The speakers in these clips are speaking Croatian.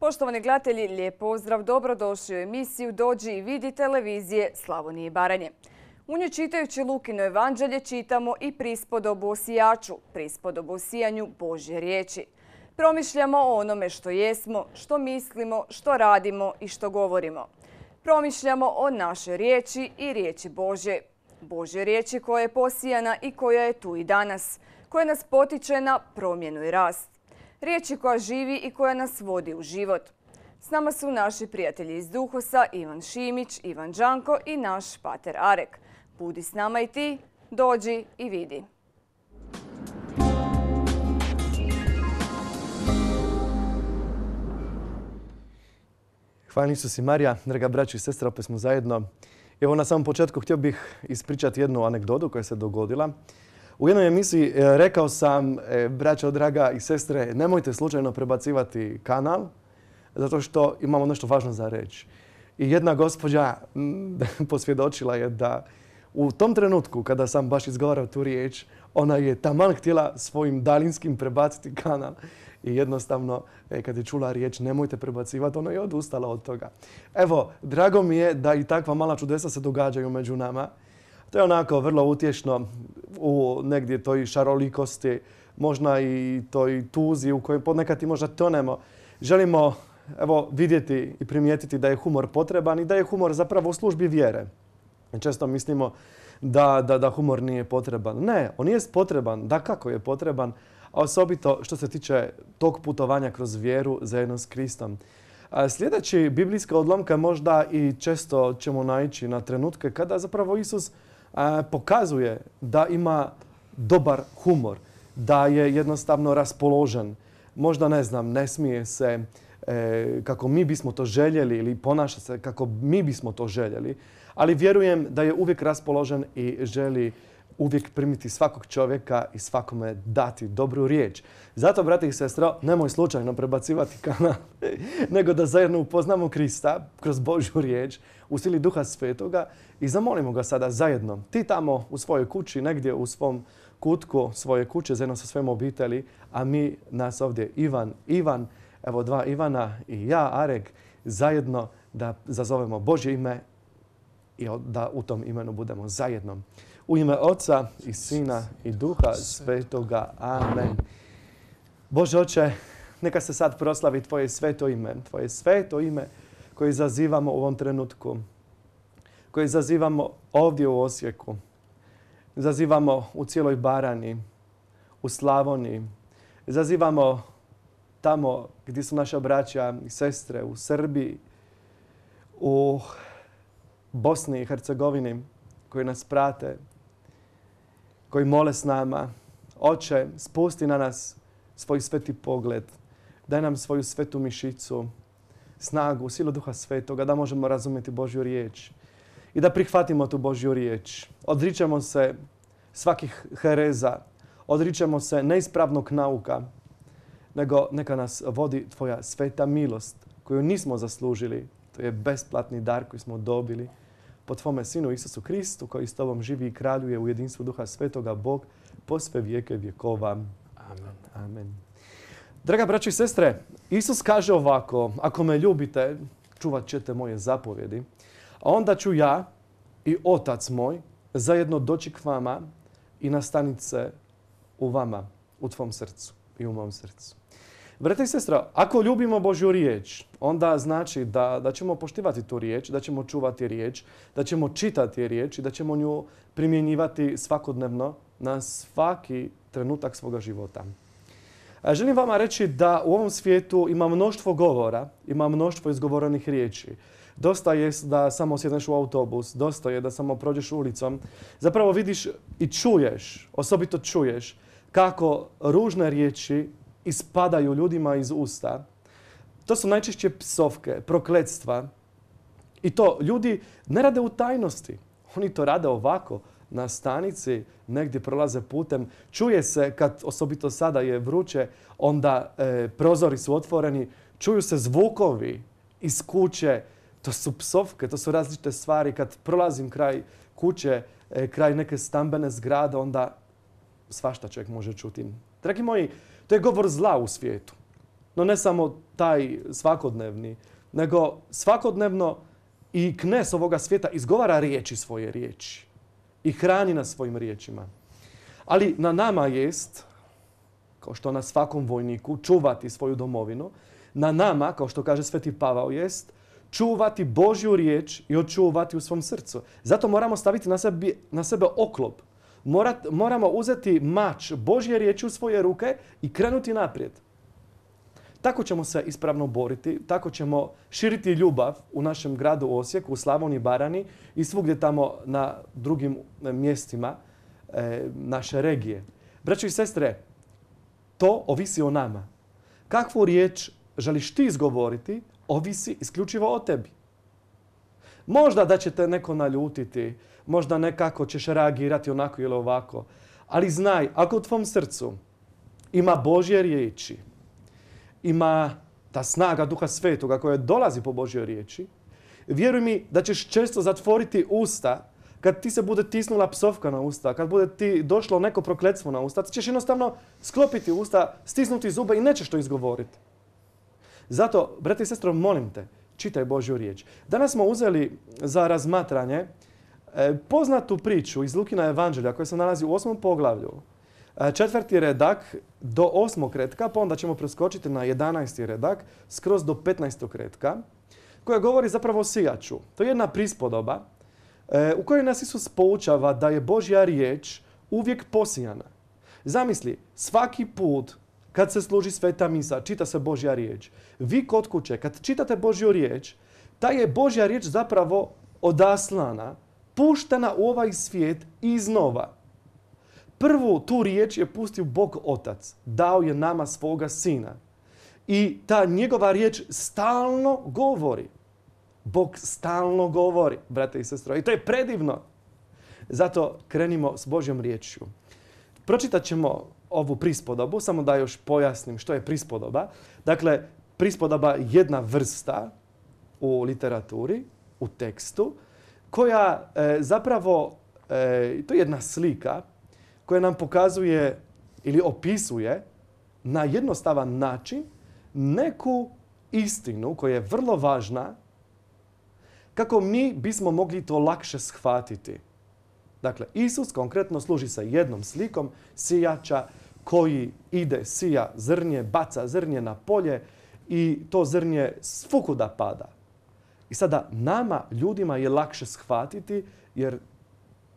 Poštovani gledatelji, lijep pozdrav, dobrodošli u emisiju Dođi i vidi televizije Slavonije i Baranje. U njoj čitajući Lukino evanđelje čitamo i prispodobu o sijaču, prispodobu o sijanju Božje riječi. Promišljamo o onome što jesmo, što mislimo, što radimo i što govorimo. Promišljamo o našoj riječi i riječi Božje. Božje riječi koja je posijana i koja je tu i danas, koja nas potiče na promjenu i rast. Riječi koja živi i koja nas vodi u život. S nama su naši prijatelji iz Duhosa, Ivan Šimić, Ivan Đanko i naš pater Arek. Budi s nama i ti, dođi i vidi. Hvala Isus i Marija, draga braćo i sestra, opet smo zajedno. Evo na samom početku htio bih ispričati jednu anegdotu koja se dogodila. U jednoj emisiji rekao sam, braćo draga i sestre, nemojte slučajno prebacivati kanal, zato što imamo nešto važno za reći. I jedna gospođa posvjedočila je da u tom trenutku kada sam baš izgovarao tu riječ, ona je taman htjela svojim daljinskim prebaciti kanal. I jednostavno, kad je čula riječ nemojte prebacivati, ona je odustala od toga. Evo, drago mi je da i takva mala čudesa se događaju među nama. To je onako vrlo utješno u negdje toj šarolikosti, možda i toj tuzi u kojoj ponekad i možda tonemo. Želimo vidjeti i primijetiti da je humor potreban i da je humor zapravo u službi vjere. Često mislimo da humor nije potreban. Ne, on je potreban, dakako je potreban, a osobito što se tiče tog putovanja kroz vjeru zajedno s Kristom. Sljedeći biblijska odlomka možda i često ćemo naići na trenutke kada zapravo Isus pokazuje da ima dobar humor, da je jednostavno raspoložen. Možda ne smije se kako mi bismo to željeli ili ponaša se kako mi bismo to željeli, ali vjerujem da je uvijek raspoložen i želi uvijek primiti svakog čovjeka i svakome dati dobru riječ. Zato, brate i sestro, nemoj slučajno prebacivati kanal, nego da zajedno upoznamo Krista kroz Božju riječ u sili Duha Svetoga i zamolimo ga sada zajedno. Ti tamo u svojoj kući, negdje u svom kutku svoje kuće, zajedno sa svojom obitelji, a mi nas ovdje Ivan, evo dva Ivana i ja, Arek, zajedno da zazovemo Božje ime i da u tom imenu budemo zajedno. U ime Oca i Sina i Duha Svetoga. Amen. Bože Oče, neka se sad proslavi Tvoje sveto ime koje zazivamo u ovom trenutku, koje zazivamo ovdje u Osijeku, zazivamo u cijeloj Baranji, u Slavoniji, zazivamo tamo gdje su naša braća i sestre, u Srbiji, u Bosni i Hercegovini, koji nas prate, koji mole s nama. Oče, spusti na nas svoj sveti pogled, daj nam svoju svetu mišicu, snagu, silu Duha Svetoga, da možemo razumjeti Božju riječ i da prihvatimo tu Božju riječ. Odričemo se svakih hereza, odričemo se neispravnog nauka, nego neka nas vodi Tvoja sveta milost koju nismo zaslužili. To je besplatni dar koji smo dobili po Tvome Sinu Isusu Kristu, koji s Tobom živi i kraljuje u jedinstvu Duha Svetoga, Bog, po sve vijeke vjekova. Amen. Amen. Draga braćo i sestre, Isus kaže ovako: ako me ljubite, čuvat ćete moje zapovjedi, a onda ću ja i Otac moj zajedno doći k vama i nastanit se u vama, u tvom srcu i u mom srcu. Brate i sestra, ako ljubimo Božju riječ, onda znači da ćemo poštivati tu riječ, da ćemo čuvati riječ, da ćemo čitati riječ i da ćemo nju primjenjivati svakodnevno na svaki trenutak svoga života. Želim vama reći da u ovom svijetu ima mnoštvo govora, ima mnoštvo izgovorenih riječi. Dosta je da samo sjedneš u autobus, dosta je da samo prođeš ulicom. Zapravo vidiš i čuješ, osobito čuješ kako ružne riječi ispadaju ljudima iz usta. To su najčešće psovke, prokletstva. I to ljudi ne rade u tajnosti. Oni to rade ovako, na stanici, negdje prolaze putem. Čuje se, kad osobito sada je vruće, onda prozori su otvoreni, čuju se zvukovi iz kuće. To su psovke, to su različite stvari. Kad prolazim kraj kuće, kraj neke stambene zgrade, onda svašta čovjek može čuti. Dragi moji, to je govor zla u svijetu. No ne samo taj svakodnevni, nego svakodnevno i knes ovoga svijeta izgovara svoje riječi i hrani nas svojim riječima. Ali na nama jest, kao što na svakom vojniku, čuvati svoju domovinu. Na nama, kao što kaže Sveti Pavao, jest čuvati Božju riječ i očuvati u svom srcu. Zato moramo staviti na sebe oklop. Moramo uzeti mač Božje riječi u svoje ruke i krenuti naprijed. Tako ćemo se ispravno boriti, tako ćemo širiti ljubav u našem gradu Osijeku, u Slavoniji, Baranji i svugdje tamo na drugim mjestima naše regije. Braćo i sestre, to ovisi o nama. Kakvu riječ želiš ti izgovoriti, ovisi isključivo o tebi. Možda da će te neko naljutiti, možda nekako ćeš reagirati onako ili ovako, ali znaj, ako u tvom srcu ima Božje riječi, ima ta snaga Duha Svetoga koja dolazi po Božjoj riječi, vjeruj mi da ćeš često zatvoriti usta kad ti se bude tisnula psovka na usta, kad bude ti došlo neko prokletstvo na usta, ti ćeš jednostavno sklopiti usta, stisnuti zube i nećeš to izgovoriti. Zato, brate i sestro, molim te, čitaj Božju riječ. Danas smo uzeli za razmatranje poznatu priču iz Lukina evanđelja koja se nalazi u 8. poglavlju. 4. redak do 8. retka, pa onda ćemo preskočiti na 11. redak skroz do 15. retka, koja govori zapravo o sijaču. To je jedna prispodoba u kojoj nas Isus poučava da je Božja riječ uvijek posijana. Zamisli, svaki put kad se služi sveta misa, čita se Božja riječ. Vi kod kuće, kad čitate Božju riječ, ta je Božja riječ zapravo odaslana, puštena u ovaj svijet iznova. Prvu tu riječ je pustio Bog Otac. Dao je nama svoga Sina. I ta njegova riječ stalno govori. Bog stalno govori, brate i sestre. I to je predivno. Zato krenimo s Božjom riječju. Pročitat ćemo ovu prispodobu, samo da još pojasnim što je prispodoba. Dakle, prispodoba je jedna vrsta u literaturi, u tekstu, koja zapravo, to je jedna slika koja nam pokazuje ili opisuje na jednostavan način neku istinu koja je vrlo važna kako mi bismo mogli to lakše shvatiti. Dakle, Isus konkretno služi sa jednom slikom sijača koji ide, sija zrnje, baca zrnje na polje i to zrnje svukuda pada. I sada nama, ljudima, je lakše shvatiti jer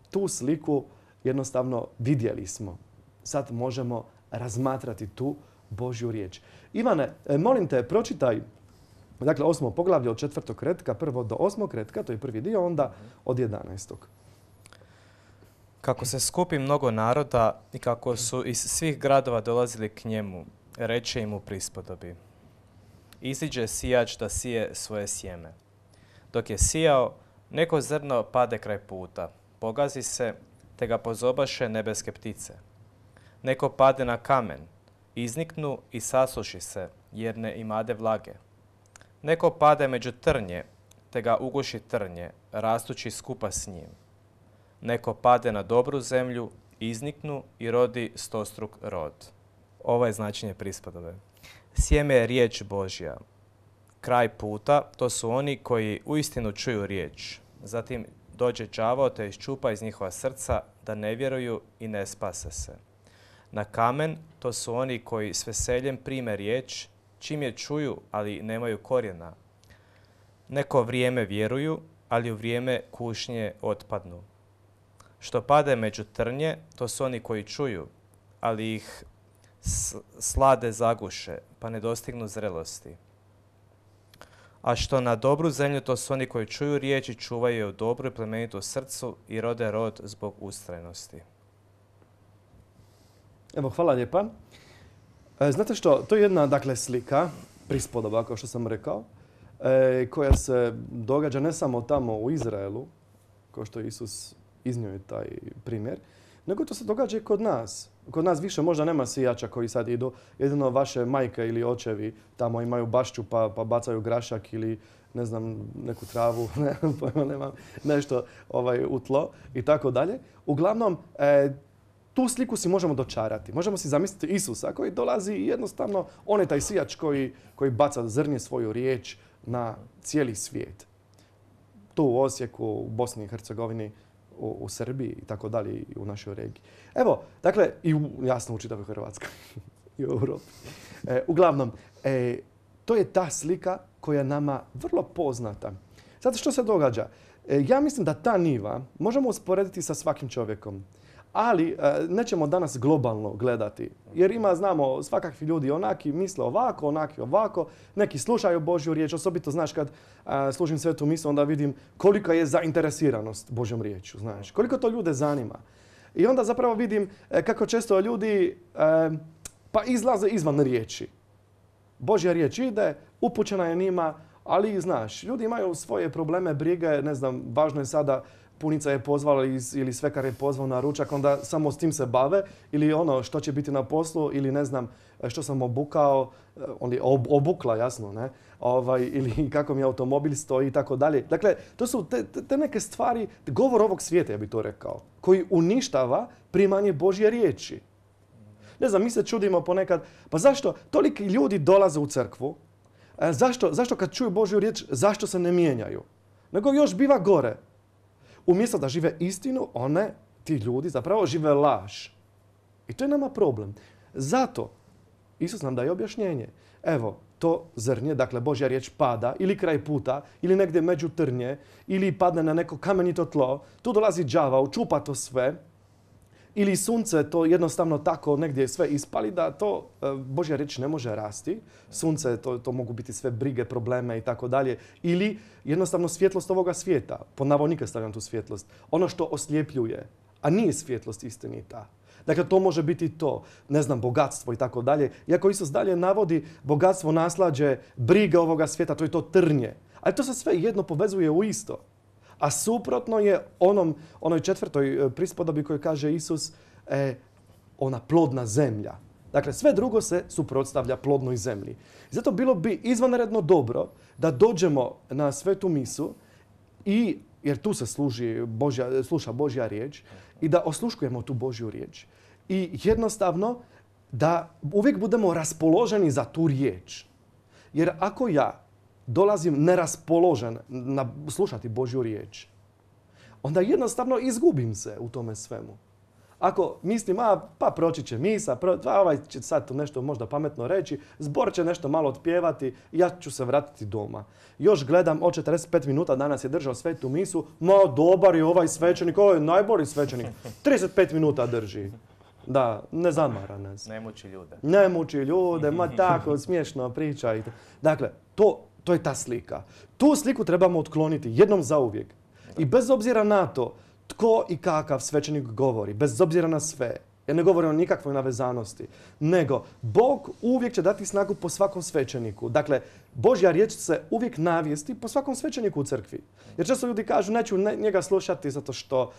tu sliku jednostavno vidjeli smo. Sad možemo razmatrati tu Božju riječ. Ivane, molim te, pročitaj dakle 8. poglavlje od 4. retka, prvo do 8. retka, to je prvi dio, onda od 11. Kako se skupi mnogo naroda i kako su iz svih gradova dolazili k njemu, reče im u prispodobi. Iziđe sijač da sije svoje sjeme. Dok je sijao, neko zrno pade kraj puta, pogazi se, te ga pozobaše nebeske ptice. Neko pade na kamen, izniknu i sasuši se, jer ne imade vlage. Neko pade među trnje, te ga uguši trnje, rastući skupa s njim. Neko pade na dobru zemlju, izniknu i rodi stostruk rod. Ovo je značenje prispodobe. Sjeme je riječ Božja. Kraj puta, to su oni koji uistinu čuju riječ. Zatim dođe đavao te iščupa iz njihova srca da ne vjeruju i ne spase se. Na kamen, to su oni koji s veseljem prime riječ, čim je čuju, ali nemaju korijena. Neko vrijeme vjeruju, ali u vrijeme kušnje otpadnu. Što pade među trnje, to su oni koji čuju, ali ih slade zaguše, pa ne dostignu zrelosti. A što na dobru zemlju, to su oni koji čuju riječ i čuvaju je u dobru i plemenitu srcu i rode rod zbog ustrajnosti. Evo, hvala lijepa. Znate što, to je jedna dakle, slika, prispodoba, kao što sam rekao, koja se događa ne samo tamo u Izraelu, kao što Isus iznio je taj primjer, nego to se događa i kod nas. Kod nas više možda nema sijača koji sad idu, jedino vaše majke ili očevi tamo imaju bašću pa bacaju grašak ili ne znam, neku travu, nemam nešto u tlo i tako dalje. Uglavnom, tu sliku si možemo dočarati. Možemo si zamisliti Isusa koji dolazi i jednostavno, on je taj sijač koji baca zrnje svoju riječ na cijeli svijet. Tu u Osijeku, u Bosni i Hercegovini, u Srbiji i tako dalje i u našoj regiji. Evo, dakle, i jasno u čitavoj Hrvatskoj i u Europi. Uglavnom, to je ta slika koja je nama vrlo poznata. Zato što se događa? Ja mislim da ta niva možemo usporediti sa svakim čovjekom. Ali nećemo danas globalno gledati. Jer znamo, svakakvi ljudi onaki misle ovako, onaki ovako. Neki slušaju Božju riječ. Osobito, znaš, kad služim svetu misu, onda vidim kolika je zainteresiranost Božjom riječju. Znaš, koliko to ljude zanima. I onda zapravo vidim kako često ljudi pa izlaze izvan riječi. Božja riječ ide, upućena je njima, ali znaš, ljudi imaju svoje probleme, brige, ne znam, važno je sada punica je pozvala ili svekar je pozvao na ručak, onda samo s tim se bave, ili ono što će biti na poslu, ili ne znam što sam obukao, obukla, jasno, ne? Ili kako mi automobil stoji i tako dalje. Dakle, to su te neke stvari, govor ovog svijeta, ja bih to rekao, koji uništava primanje Božje riječi. Ne znam, mi se čudimo ponekad, pa zašto toliki ljudi dolaze u crkvu, zašto kad čuju Božju riječ, zašto se ne mijenjaju? Nego još biva gore. Umjesto da žive istinu, ti ljudi zapravo žive laž. I to je nama problem. Zato Isus nam daje objašnjenje. Evo, to zrnje, dakle Božja riječ pada ili kraj puta, ili negdje među trnje, ili padne na neko kamenito tlo. Tu dolazi đavao, čupa to sve. Ili sunce to jednostavno tako negdje sve ispali da to Božja riječ ne može rasti. Sunce, to mogu biti sve brige, probleme i tako dalje. Ili jednostavno svjetlost ovoga svijeta. Po navodnike stavljam tu svjetlost. Ono što osljepljuje, a nije svjetlost istinita. Dakle, to može biti to, ne znam, bogatstvo i tako dalje. Iako Isus dalje navodi bogatstvo, naslađe, briga ovoga svijeta, to je to trnje. Ali to se sve jedno povezuje u isto. A suprotno je onoj 4. prispodobi koju kaže Isus, ona plodna zemlja. Dakle, sve drugo se suprotstavlja plodnoj zemlji. Zato bilo bi izvanredno dobro da dođemo na svetu misu, jer tu se sluša Božja riječ, i da osluškujemo tu Božju riječ. I jednostavno da uvijek budemo raspoloženi za tu riječ. Jer ako ja dolazim neraspoložen slušati Božju riječ, onda jednostavno izgubim se u tome svemu. Ako mislim, pa proći će misa, ovaj će sad nešto možda pametno reći, zbor će nešto malo otpjevati, ja ću se vratiti doma. Još gledam, od 45 minuta danas je držao svetu misu, dobar je ovaj svećenik, ovo je najbolji svećenik, 35 minuta drži. Da, ne zamara nas. Ne muči ljude. Ne muči ljude, tako smiješno priča. Dakle, to je ta slika. Tu sliku trebamo otkloniti jednom zauvijek. I bez obzira na to tko i kakav svećenik govori, bez obzira na sve, ja ne govorim o nikakvoj navezanosti, nego Bog uvijek će dati snagu po svakom svećeniku. Dakle, Božja riječ se uvijek navijesti po svakom svećeniku u crkvi. Jer često ljudi kažu, neću njega slušati zato što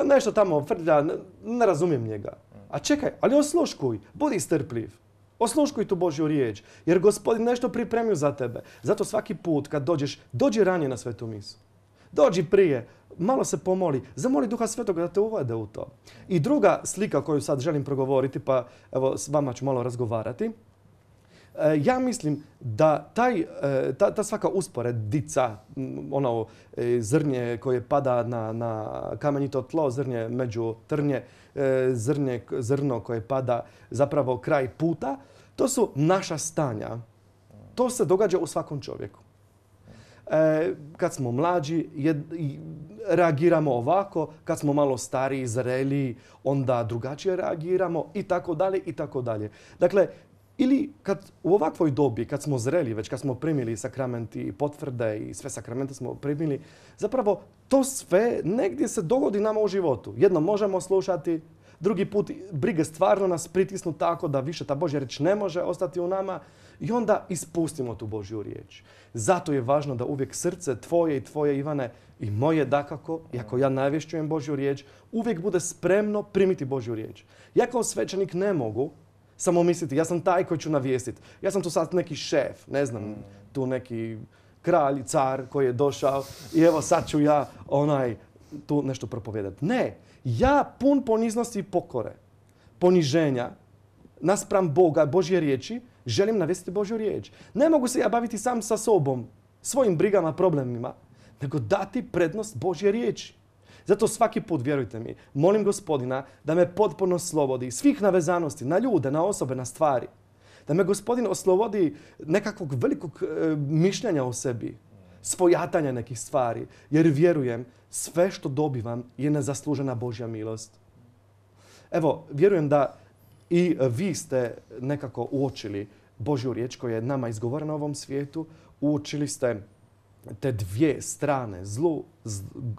nešto tamo frlja, ne razumijem njega. A čekaj, ali osluškuj, budi strpljiv. Osluškuj tu Božju riječ, jer Gospodin nešto pripremio za tebe. Zato svaki put kad dođeš, dođi ranije na svetu misu. Dođi prije, malo se pomoli, zamoli Duha Svetoga da te uvede u to. I druga slika koju sad želim progovoriti, pa evo s vama ću malo razgovarati. Ja mislim da ta svaka usporedica, zrnje koje pada na kamenito tlo, zrnje među trnje, zrno koje pada zapravo kraj puta, to su naša stanja. To se događa u svakom čovjeku. Kad smo mlađi, reagiramo ovako, kad smo malo stariji, zreliji, onda drugačije reagiramo i tako dalje i tako dalje. Dakle, ili kad u ovakvoj dobi, kad smo zreli, već kad smo primili sakramenti i potvrde i sve sakramente smo primili, zapravo to sve negdje se dogodi nama u životu. Jedno možemo slušati, drugi put brige stvarno nas pritisnu tako da više ta Božja riječ ne može ostati u nama i onda ispustimo tu Božju riječ. Zato je važno da uvijek srce tvoje i tvoje, Ivane, i moje dakako, iako ja navješćujem Božju riječ, uvijek bude spremno primiti Božju riječ. Ja kao svećenik ne mogu samo misliti, ja sam taj koji ću navijestiti. Ja sam tu sad neki šef, ne znam, tu neki kralj, car koji je došao i evo sad ću ja tu nešto propovijedati. Ne, ja pun poniznosti i pokore, poniženja, naspram Boga, Božje riječi, želim navesti Božju riječ. Ne mogu se ja baviti sam sa sobom, svojim brigama, problemima, nego dati prednost Božje riječi. Zato svaki put, vjerujte mi, molim Gospodina da me potpuno oslobodi svih navezanosti na ljude, na osobe, na stvari. Da me Gospodin oslobodi nekakvog velikog mišljenja o sebi, svojatanja nekih stvari, jer vjerujem sve što dobivam je nezaslužena Božja milost. Evo, vjerujem da i vi ste nekako uočili Božju riječ koja je nama izgovorena u ovom svijetu. Uočili ste te dvije strane,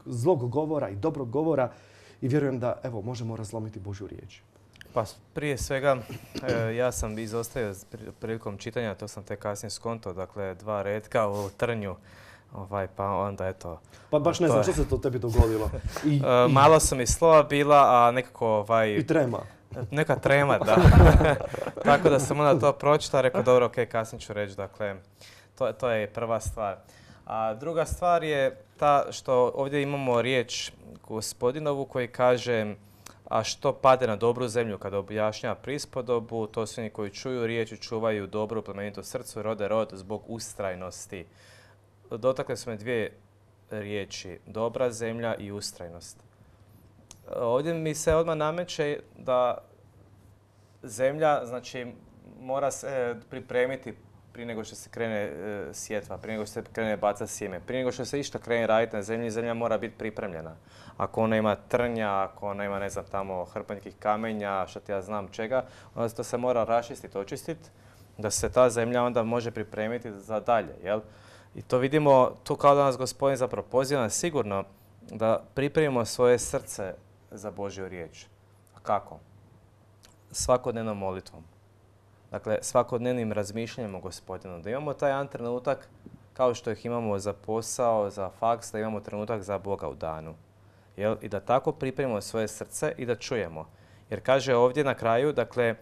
zlog govora i dobrog govora i vjerujem da evo možemo razlomiti Božju riječ. Pa prije svega, ja sam izostavio prilikom čitanja, to sam te kasnije skonto, dakle 2 retka u trnju, pa onda eto. Pa baš ne znam što se to tebi dogodilo. Malo su mi slova bila, a nekako I trema. Neka trema, da. Tako da sam onda to pročitao, rekao dobro, ok, kasnije ću reći, dakle, to je prva stvar. A druga stvar je ta što ovdje imamo riječ Gospodinovu koji kaže a što pade na dobru zemlju kada objašnjava prispodobu, to su oni koji čuju riječ i čuvaju dobru plemenitu srcu, rode rod zbog ustrajnosti. Dotakle su me 2 riječi, dobra zemlja i ustrajnost. Ovdje mi se odmah nameće da zemlja, znači, mora se pripremiti prije nego što se krene sjetva, prije nego što se krene bacati sjeme, prije nego što se išta krene raditi na zemlji, zemlja mora biti pripremljena. Ako ona ima trnja, ako ona ima, ne znam, tamo hrpanjskih kamenja, što ti ja znam čega, onda to se mora raščistiti, očistiti, da se ta zemlja onda može pripremiti za dalje, jel? I to vidimo, tu kao da nas Gospodin zapravo poziva nas sigurno da pripremimo svoje srce za Božju riječ. A kako? Svakodnevnom molitvom. Dakle, svakodnevnim razmišljanjem o Gospodinu. Da imamo taj jedan trenutak kao što ih imamo za posao, za faks, da imamo trenutak za Boga u danu. Jel? I da tako pripremimo svoje srce i da čujemo. Jer kaže ovdje na kraju, dakle,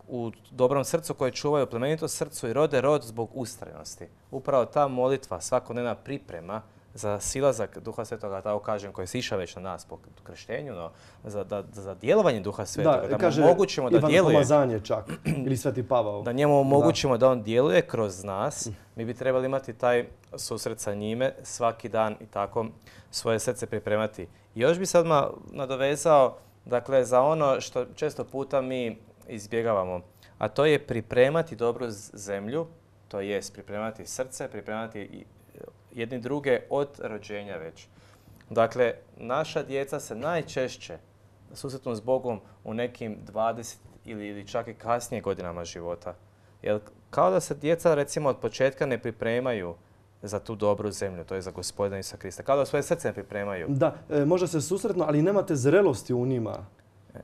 u dobrom srcu koje čuvaju plemenito srcu i rode rod zbog ustrajnosti. Upravo ta molitva, svakodnevna priprema za silazak Duha Svetoga, tako kažem, koji je sišao već na nas po krštenju, no za djelovanje Duha Svetoga, da mu omogućimo da djeluje. Ivan pomazanje čak, ili Sveti Pavao. Da njemu omogućimo da on djeluje kroz nas. Mi bi trebali imati taj susret sa njime svaki dan i tako svoje srce pripremati. I još bi se odmah nadovezao, dakle, za ono što često puta mi izbjegavamo, a to je pripremati dobru zemlju, to jest pripremati srce, pripremati jedni druge od rođenja već. Dakle, naša djeca se najčešće susretnu s Bogom u nekim 20 ili čak i kasnije godinama života. Jer kao da se djeca recimo od početka ne pripremaju za tu dobru zemlju, to je za Gospodina Isusa Krista. Kao da svoje srce ne pripremaju. Da, možda se susretnu, ali nemate zrelosti u njima.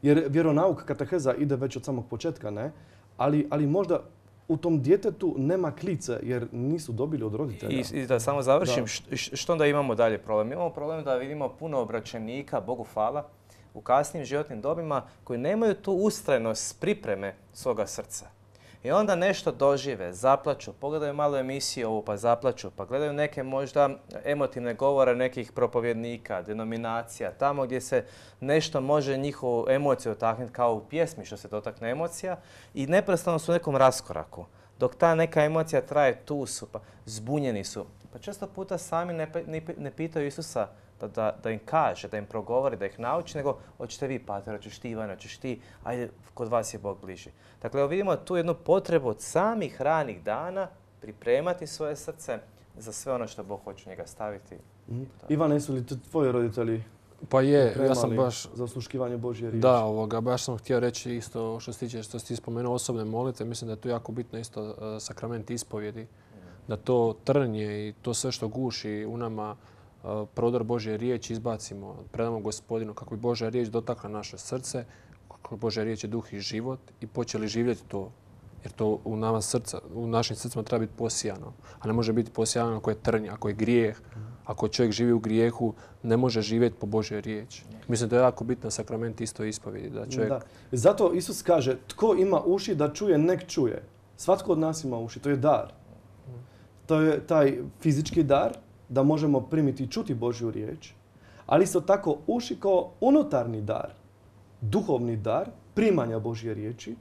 Jer vjeronauk, kateheza ide već od samog početka, ne? Ali možda u tom djetetu nema klice jer nisu dobili od roditelja. I da samo završim, što onda imamo dalje problem? Imamo problem da vidimo puno obraćenika, Bogu hvala, u kasnim životnim dobima koji nemaju tu ustrajnost pripreme svoga srca. I onda nešto dožive, zaplaču, pogledaju malo emisiju ovu pa zaplaču, pa gledaju neke možda emotivne govore nekih propovjednika, denominacija, tamo gdje se nešto može njihovu emociju dotaknuti kao u pjesmi što se dotakne emocija i neprestano su u nekom raskoraku. Dok ta neka emocija traje, tu su, pa zbunjeni su. Pa često puta sami ne pitaju Isusa da im kaže, da im progovori, da ih nauči, nego hoćete vi, pater, hoćeš ti, Ivana, hoćeš ti, ajde, kod vas je Bog bliži. Dakle, vidimo tu jednu potrebu od samih ranih dana pripremati svoje srce za sve ono što Bog hoće u njega staviti. Ivana, jesu li tvoji roditelji Pa je, ja sam baš za osluškivanje Božje riječi? Da, baš sam htio reći isto što se tiče, što si spomenuo osobne molitve, mislim da je tu jako bitno isto sakrament ispovjedi, da to trnje i to sve što guši u nama prodor Božje riječi izbacimo, predamo Gospodinu kako bi Božja riječ dotakla naše srce, kako Božja riječ je duh i život i počeli živjeti to. Jer to u našim srcima treba biti posijano. A ne može biti posijano ako je trnje, ako je grijeh. Ako čovjek živi u grijehu, ne može živjeti po Božjoj riječi. Mislim da je jako bitan sakrament isto ispovjedi. Da. Zato Isus kaže, tko ima uši da čuje, nek čuje. Svatko od nas ima uši, to je dar. To je taj fizički dar, da možemo primiti i čuti Božju riječ, ali isto tako uši kao unutarnji dar, duhovni dar, primanja Božje riječi,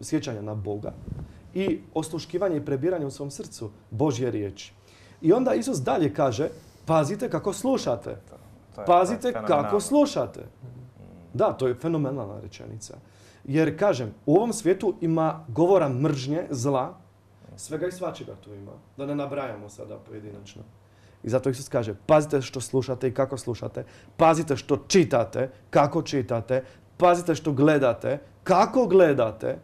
sjećanja na Boga i osluškivanje i prebiranje u svom srcu Božje riječi. I onda Isus dalje kaže, pazite kako slušate. Pazite kako slušate. Da, to je fenomenalna rečenica. Jer, kažem, u ovom svijetu ima govora mržnje, zla, svega i svačega tu ima. Da ne nabrajamo sada pojedinačno. I zato Isus kaže, pazite što slušate i kako slušate. Pazite što čitate, kako čitate. Pazite što gledate, kako gledate.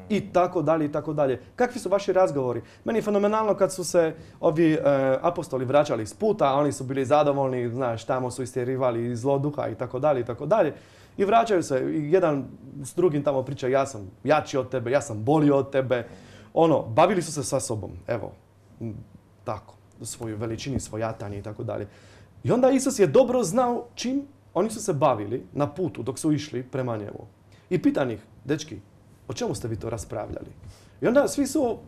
I tako dalje, i tako dalje. Kakvi su vaši razgovori? Meni je fenomenalno kad su se ovi apostoli vraćali s puta, a oni su bili zadovoljni, znaš, tamo su istjerivali zlo duha i tako dalje, i tako dalje. I vraćaju se, i jedan s drugim tamo priča, ja sam jači od tebe, ja sam bolji od tebe. Bavili su se sa sobom, evo, tako, svoju veličini, svojatanje i tako dalje. I onda Isus je dobro znao čim oni su se bavili na putu dok su išli prema njemu. I pitan ih, dečki, o čemu ste vi to raspravljali? I onda svi su,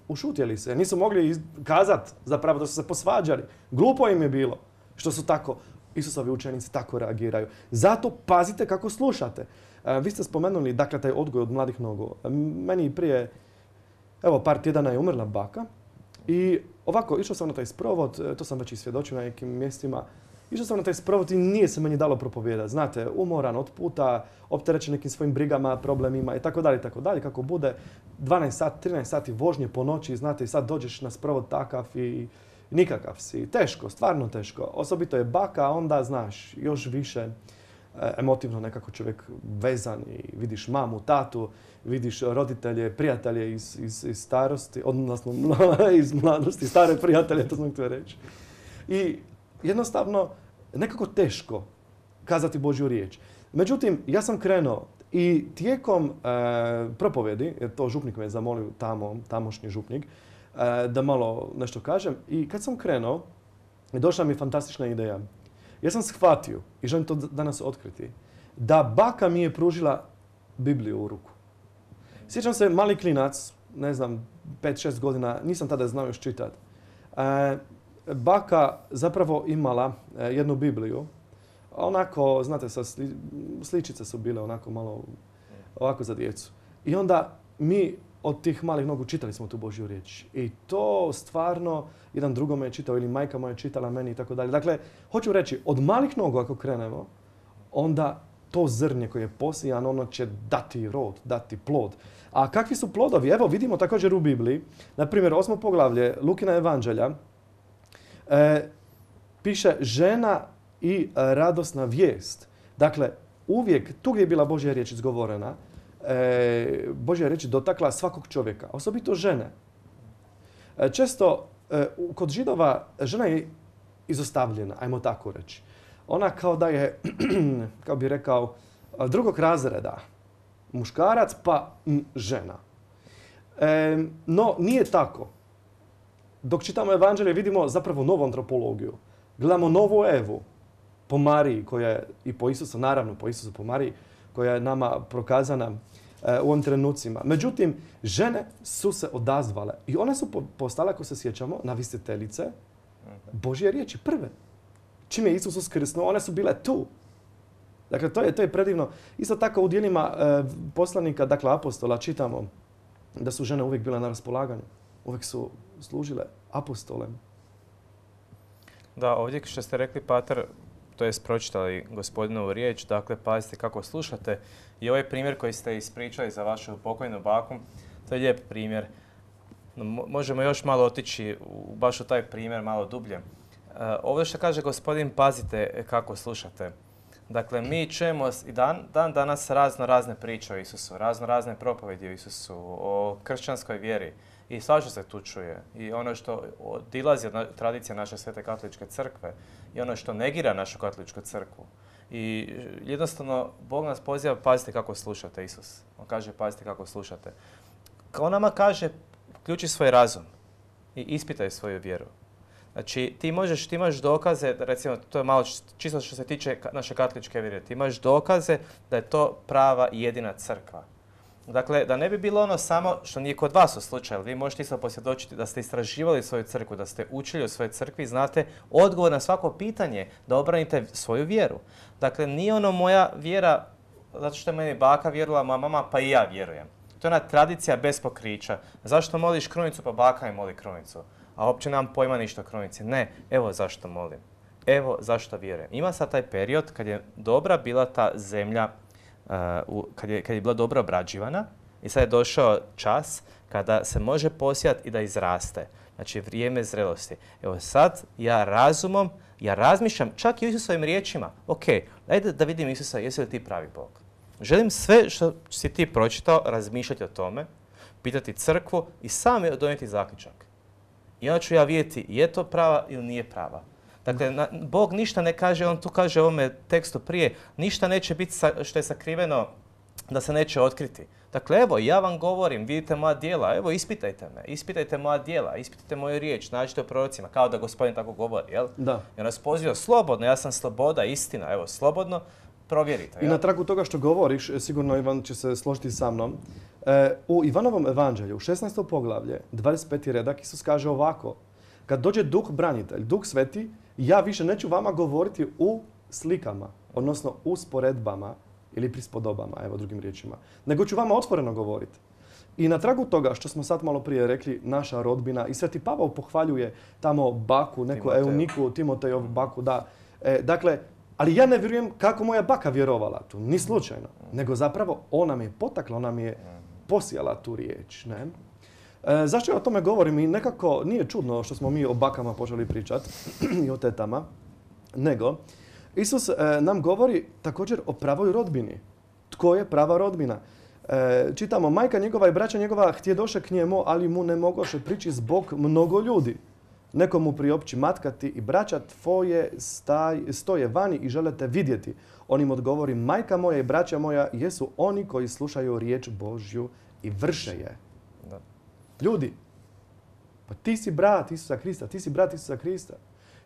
ušutjeli se. Nisu mogli kazati zapravo da su se posvađali. Glupo im je bilo što su tako, Isusovi učenici tako reagiraju. Zato pazite kako slušate. Vi ste spomenuli, dakle, taj odgoj od mladih nogu. Meni prije, par tjedana je umrla baka. I ovako, išao sam na taj sprovod, to sam već i svjedočio na nekim mjestima. Išao sam na taj sprovod i nije se meni dalo propovijedati. Znate, umoran od puta, opterećen nekim svojim brigama, problemima i tako dalje, kako bude. 12 sati, 13 sati vožnje po noći, znate, i sad dođeš na sprovod takav i nikakav si. Teško, stvarno teško. Osobito je baka, onda, znaš, još više emotivno nekako čovjek vezan i vidiš mamu, tatu, vidiš roditelje, prijatelje iz starosti, odnosno iz mladosti, stare prijatelje, to sam htio reći. I jednostavno, nekako teško kazati Božju riječ. Međutim, ja sam krenuo i tijekom propovjedi, jer to župnik me je zamolio tamošnji župnik, da malo nešto kažem. I kad sam krenuo, došla mi fantastična ideja. Ja sam shvatio, i želim to danas otkriti, da baka mi je pružila Bibliju u ruku. Sjećam se, mali klinac, ne znam, 5-6 godina, nisam tada znao još čitati. Baka zapravo imala jednu Bibliju. Onako, znate, sličice su bile onako malo ovako za djecu. I onda mi od tih malih nogu čitali smo tu Božju riječ. I to stvarno jedan drugome je čitao ili majka moja je čitala meni i tako dalje. Dakle, hoću reći, od malih nogu ako krenemo, onda to zrnje koje je posijan, ono će dati rod, dati plod. A kakvi su plodovi? Evo, vidimo također u Bibliji, na primjer, 8. poglavlje Lukina evanđelja, piše žena i radosna vijest. Dakle, uvijek, tu gdje je bila Božja riječ izgovorena, Božja riječ dotakla svakog čovjeka, osobito žene. Često kod Židova žena je izostavljena, ajmo tako reći. Ona kao da je, kao bi rekao, drugog razreda. Muškarac pa žena. No, nije tako. Dok čitamo evanđelje vidimo zapravo novu antropologiju. Gledamo novu Evu po Mariji, koja je i po Isusu, naravno po Isusu, po Mariji, koja je nama prokazana u ovim trenucima. Međutim, žene su se odazvale i one su postale, ako se sjećamo, navisiteljice Božje riječi prve. Čim je Isus uskrsnuo, one su bile tu. Dakle, to je predivno. Isto tako u djelima poslanika, dakle apostola, čitamo da su žene uvijek bile na raspolaganju. Uvijek su služile apostolem. Da, ovdje što ste rekli, pater, to je pročitali Gospodinovu riječ, dakle, pazite kako slušate. I ovaj primjer koji ste ispričali za vašu pokojnu baku, to je lijep primjer. Možemo još malo otići baš u taj primjer, malo dublje. Ovdje što kaže Gospodin, pazite kako slušate. Dakle, mi čujemo i dan danas razne priče o Isusu, razne propovedi o Isusu, o kršćanskoj vjeri. I svašta se tu čuje. I ono što odilazi od tradicije naše Svete katoličke crkve i ono što negira našu katoličku crkvu. I jednostavno, Bog nas poziva, pazite kako slušate, Isus. On kaže, pazite kako slušate. On nama kaže, uključi svoj razum i ispitaj svoju vjeru. Znači, ti imaš dokaze, recimo, to je malo čisto što se tiče naše katoličke vjere, ti imaš dokaze da je to prava i jedina crkva. Dakle, da ne bi bilo ono samo što nije kod vas u slučaju. Vi možete isto posvjedočiti da ste istraživali svoju crkvu, da ste učili o svojoj crkvi, znate odgovor na svako pitanje, da obranite svoju vjeru. Dakle, nije ono moja vjera, zato što je meni baka vjerovala, moja mama, pa i ja vjerujem. To je ona tradicija bez pokrića. Zašto moliš krunicu, pa baka mi moli krunicu. A uopće nemam pojma ništa o krunici. Ne, evo zašto molim. Evo zašto vjerujem. Ima sad taj period kad je dobra bila ta zemlja, kad je bila dobro obrađivana i sad je došao čas kada se može posijati i da izraste. Znači vrijeme zrelosti. Evo sad ja razumom, ja razmišljam čak i o Isusovim riječima. Ok, ajde da vidim Isusa, jesi li ti pravi Bog? Želim sve što si ti pročitao razmišljati o tome, pitati crkvu i sam donijeti zaključak. I onda ću ja vidjeti je to prava ili nije prava. Dakle, Bog ništa ne kaže, on tu kaže u ovome tekstu prije, ništa neće biti što je sakriveno da se neće otkriti. Dakle, evo, ja vam govorim, vidite moja djela, evo, ispitajte me, ispitajte moja djela, ispitajte moju riječ, nađite u prorocima, kao da Gospodin tako govori, jel? Da. I on nas poziva slobodno, ja sam sloboda, istina, evo, slobodno, provjerite. I na tragu toga što govoriš, sigurno Ivan će se složiti sa mnom, u Ivanovom evanđelju, 16. poglavlje, 25. redak, Isus kaže ovako, kad dođe Duh branitelj, Duh Sveti, ja više neću vama govoriti u slikama, odnosno usporedbama ili prispodobama, evo drugim riječima, nego ću vama otvoreno govoriti. I na tragu toga što smo sad malo prije rekli, naša rodbina, i Sveti Pavao pohvaljuje tamo baku, neku Euniku, Timotejovu baku, da. Dakle, ali ja ne vjerujem kako moja baka vjerovala tu, ni slučajno, nego zapravo ona me je potakla, ona mi je posijala tu riječ. Ne? Zašto ja o tome govorim? I nekako nije čudno što smo mi o bakama počeli pričati i o tetama, nego Isus nam govori također o pravoj rodbini. Tko je prava rodbina? Čitamo, majka njegova i braća njegova htjedoše k njemu, ali mu ne mogoše prići zbog mnogo ljudi. Neko mu priopći, matka ti i braća tvoje stoje vani i žele te vidjeti. On im odgovori, majka moja i braća moja jesu oni koji slušaju riječ Božju i vrše je. Da. Ljudi, pa ti si brat Isusa Krista, ti si brat Isusa Krista.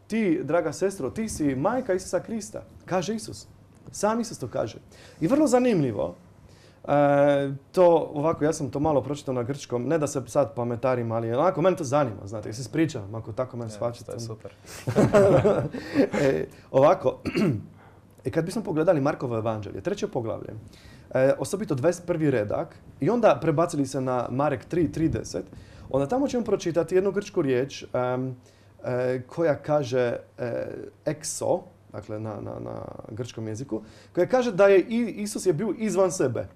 Ti, draga sestro, ti si majka Isusa Krista, kaže Isus. Sam Isus to kaže. I vrlo zanimljivo, to ovako, ja sam to malo pročitao na grčkom, ne da se sad pametarim, ali onako, mene to zanima, znate, ja se ispričavam, ako tako mene shvaćate. To je super. Ovako, kad bismo pogledali Markovo evanđelje, 3. poglavlje, osobito 21. redak, i onda prebacili se na Marek 3.30, onda tamo ćemo pročitati jednu grčku riječ koja kaže exo, dakle na grčkom jeziku, koja kaže da je Isus je bio izvan sebe.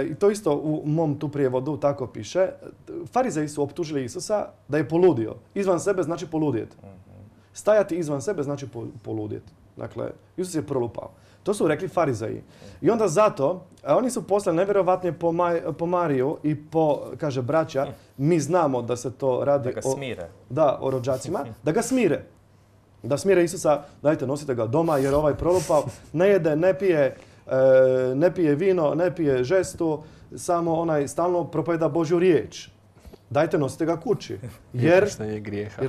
I to isto u mom tu prijevodu tako piše. Farizeji su optužili Isusa da je poludio. Izvan sebe znači poludjet. Stajati izvan sebe znači poludjet. Dakle, Isus je prolupao. To su rekli Farizeji. I onda zato, oni su poslali nevjerovatnije po Mariju i po, kaže, braća, mi znamo da se to radi da ga smire. O rođacima, da ga smire. Da smire Isusa, dajte, nosite ga doma jer ovaj prolupao, ne jede, ne pije vino, ne pije žestu, samo onaj stalno propovijeda Božju riječ. Dajte, nosite ga kući. Jer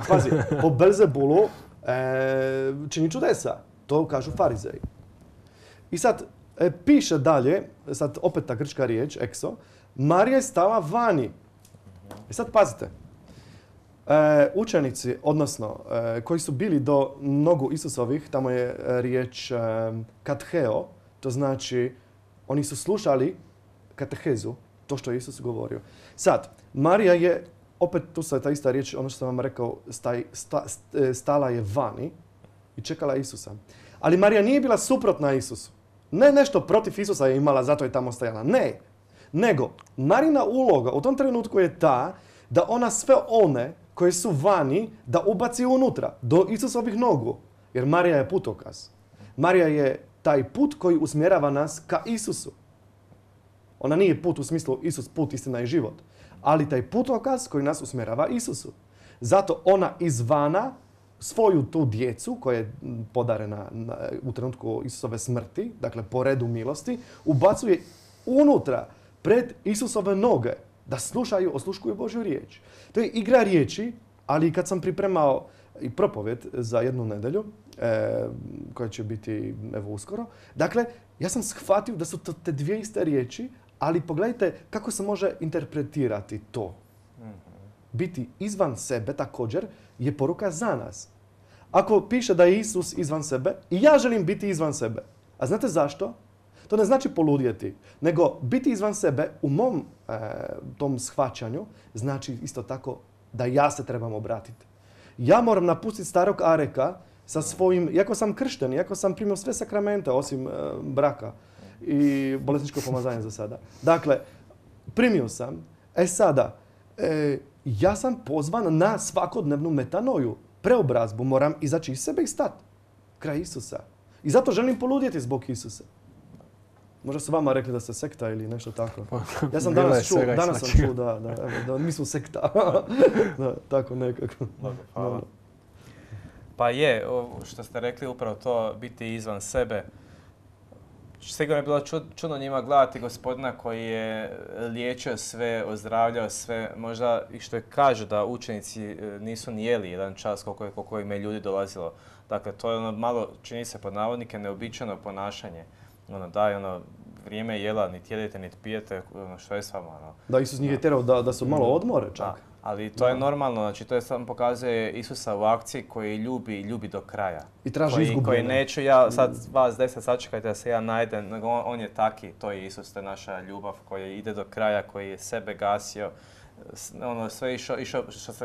pazi, po Belzebulu čini čudesa. To kažu Farizeji. I sad piše dalje, sad opet ta grčka riječ, exo, Marija je stala vani. I sad pazite, učenici, odnosno koji su bili do nogu Isusovih, tamo je riječ kateheo, to znači oni su slušali katehezu, to što je Isus govorio. Sad, Marija je, opet tu se ta ista riječ, ono što sam vam rekao, stala je vani i čekala Isusa. Ali Marija nije bila suprotna Isusu. Ne nešto protiv Isusa je imala, zato je tamo stajala. Ne. Nego, Marina uloga u tom trenutku je ta da ona sve one koji su vani da ubaci unutra, do Isusovih nogu. Jer Marija je putokaz. Marija je taj put koji usmjerava nas ka Isusu. Ona nije put u smislu Isus, put, istina i život. Ali taj putokaz koji nas usmjerava Isusu. Zato ona izvana svoju tu djecu koja je podarena u trenutku Isusove smrti, dakle po redu milosti, ubacuje unutra pred Isusove noge da osluškuju Božju riječ. To je igra riječi, ali kad sam pripremao i propovjed za jednu nedjelju, koja će biti evo uskoro, dakle, ja sam shvatio da su to te dvije iste riječi, Ali pogledajte kako se može interpretirati to. Biti izvan sebe također je poruka za nas. Ako piše da je Isus izvan sebe i ja želim biti izvan sebe. A znate zašto? To ne znači poludjeti, nego biti izvan sebe u mom tom shvaćanju znači isto tako da ja se trebam obratiti. Ja moram napustiti starog Areka sa svojim, iako sam kršten, iako sam primio sve sakramente osim braka i bolesničko pomazanje za sada. Dakle, primio sam. Sada, ja sam pozvan na svakodnevnu metanoju, preobrazbu. Moram izaći iz sebe i stati kraj Isusa. I zato želim poludjeti zbog Isusa. Možda su vama rekli da ste sekta ili nešto tako. Ja sam danas čuo, da mi smo sekta. Da, tako nekako. Hvala. Pa je, što ste rekli, upravo to biti izvan sebe. Sigurno je bilo čudno njima gledati Gospodina koji je liječio sve, ozdravljao sve. Možda i što je kažu da učenici nisu ni jeli jedan čas koliko im je ljudi dolazilo. Dakle, to je ono malo, čini se pod navodnike, neobičajno ponašanje. Vrijeme jela, niti jedete, niti pijete, što je s vama? Da, Isus njih je terao da su malo odmore čak. Da, ali to je normalno, znači to je samo pokazuje Isusa u akciji koji ljubi do kraja. I traži izgubljene. Koji neću ja sad vas 10 sačekajte da se ja najdem, nego on je taki, to je Isus, to je naša ljubav koji ide do kraja, koji je sebe gasio, sve išao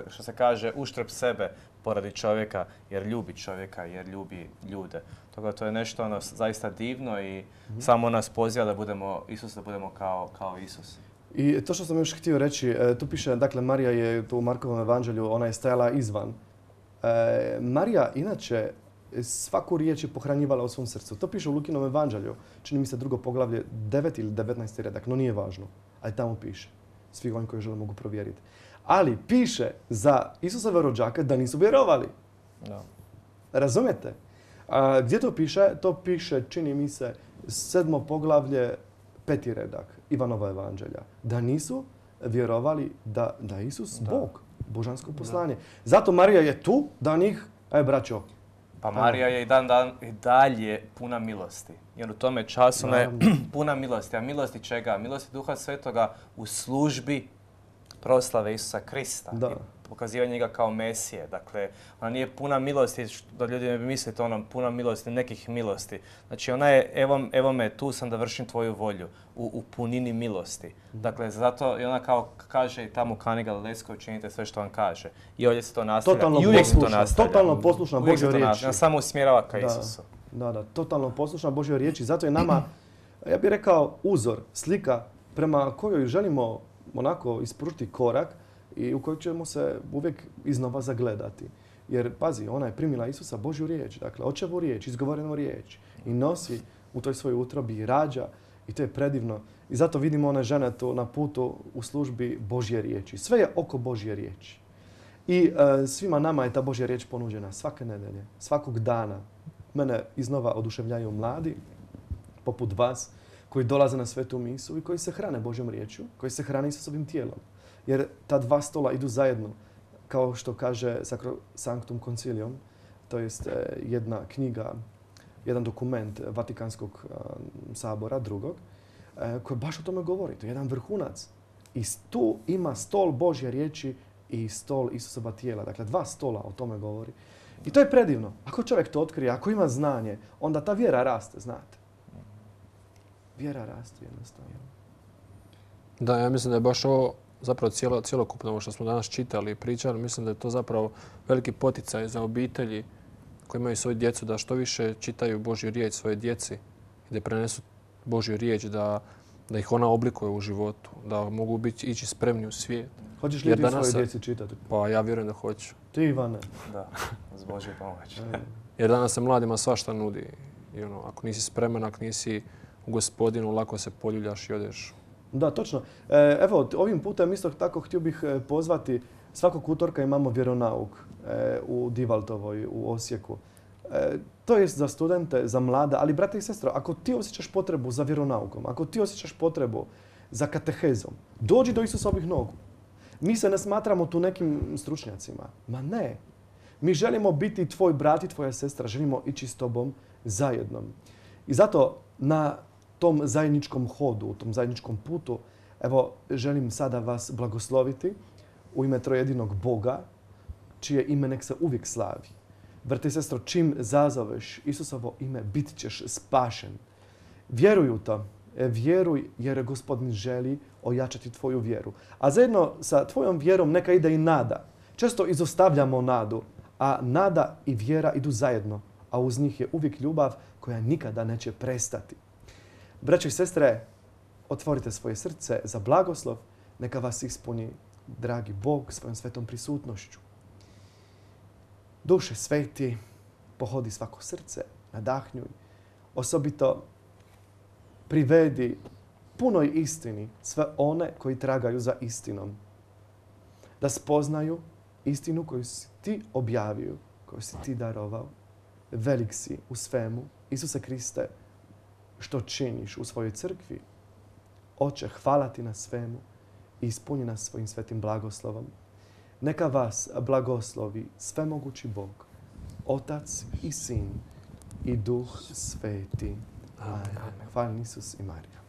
što se kaže uštrb sebe poradi čovjeka, jer ljubi čovjeka, jer ljubi ljude. Toga to je nešto zaista divno i samo nas poziva da budemo Isus, da budemo kao Isus. I to što sam još htio reći, tu piše, dakle, Marija je tu u Markovom evanđelju, ona je stajala izvan. Marija inače svaku riječ je pohranjivala u svom srcu. To piše u Lukinom evanđelju, čini mi se 2. poglavlje, 9 ili 19. redak, no nije važno, ali tamo piše. Svi oni koji žele mogu provjeriti. Ali piše za Isusove rođake da nisu vjerovali. No. Razumijete? Gdje to piše? To piše, čini mi se, 7. poglavlje, 5. redak Ivanova evanđelja. Da nisu vjerovali da je Isus Bog, božansko poslanje. Zato Marija je tu da njih, braćo. Pa Marija je i dalje puna milosti. Jer u tome času ona je puna milosti. A milosti čega? Milosti Duha Svetoga u službi proslave Isusa Krista. Da. I pokazivanje njega kao Mesije. Dakle, ona nije puna milosti, da ljudi ne bi mislili to puna milosti, nekih milosti. Znači ona je, evo me, tu sam da vršim tvoju volju, u punini milosti. Dakle, zato i ona kao kaže i tamo u Kani Galilejskoj učinite sve što vam kaže. I ovdje se to nastavlja. I uvijek se to nastavlja. Totalno poslušna Božjoj riječi. Ona samo usmjerava ka Isusu. Da, totalno poslušna Božjoj riječi. Zato je nama, ja bih rekao, uzor, slika prema kojoj želimo onako ispružiti korak i u kojeg ćemo se uvijek iznova zagledati. Jer, pazi, ona je primila Isusa Božju riječ, dakle, očevu riječ, izgovorenu riječ i nosi u toj svojoj utrobi i rađa i to je predivno. I zato vidimo one žene tu na putu u službi Božje riječi. Sve je oko Božje riječi. I svima nama je ta Božja riječ ponuđena svake nedelje, svakog dana. Mene iznova oduševljaju mladi, poput vas, koji dolaze na svetu misu i koji se hrane Božjom riječju, koji se hrane Isusovim tijelom. Jer ta dva stola idu zajedno, kao što kaže Sanctum Concilium, to jest jedna knjiga, jedan dokument Vatikanskog sabora, drugog, koji baš o tome govori. To je jedan vrhunac. I tu ima stol Božje riječi i stol Isusova tijela. Dakle, dva stola o tome govori. I to je predivno. Ako čovjek to otkrije, ako ima znanje, onda ta vjera raste, znate. Vjera raste jednostavno. Da, ja mislim da je baš ovo zapravo cjelokupno ovo što smo danas čitali i pričali. Mislim da je to zapravo veliki poticaj za obitelji koji imaju svoju djecu da što više čitaju Božju riječ svoje djeci i da prenesu Božju riječ, da ih ona oblikuje u životu, da mogu ići spremni u svijet. Hoćeš li ti svoje djeci čitati? Pa ja vjerujem da hoću. Ti, Ivane? Da, s Božjom pomoć. Jer danas se mladima svašta nudi. I ako nisi spreman, ako nisi u Gospodinu, lako se poljuljaš i odeš. Da, točno. Evo, ovim putem isto tako htio bih pozvati, svakog utorka imamo vjeronauk u Divaltovoj, u Osijeku. To je za studente, za mlade, ali brate i sestre, ako ti osjećaš potrebu za vjeronaukom, ako ti osjećaš potrebu za katehezom, dođi do Isusovih nogu. Mi se ne smatramo tu nekim stručnjacima. Ma ne. Mi želimo biti tvoj brat i tvoja sestra, želimo ići s tobom zajedno. I zato na tom zajedničkom hodu, u tom zajedničkom putu, evo, želim sada vas blagosloviti u ime trojedinog Boga, čije ime nek se uvijek slavi. Brate i sestro, čim zazoveš Isusovo ime, bit ćeš spašen. Vjeruj u to. Vjeruj jer Gospodin želi ojačati tvoju vjeru. A zajedno sa tvojom vjerom neka ide i nada. Često izostavljamo nadu, a nada i vjera idu zajedno, a uz njih je uvijek ljubav koja nikada neće prestati. Braćo i sestre, otvorite svoje srce za blagoslov, neka vas ispuni dragi Bog svojom svetom prisutnošću. Duše sveti, pohodi svako srce, nadahnjuj, osobito privedi punoj istini sve one koji tragaju za istinom. Da spoznaju istinu koju si ti objavio, koju si ti darovao. Velik si u svemu, Isuse Kriste, što činiš u svojoj crkvi. Oče, hvala ti na svemu i ispuni nas svojim svetim blagoslovom. Neka vas blagoslovi svemogući Bog, Otac i Sin i Duh Sveti. Amen. Hvala Isus i Marija.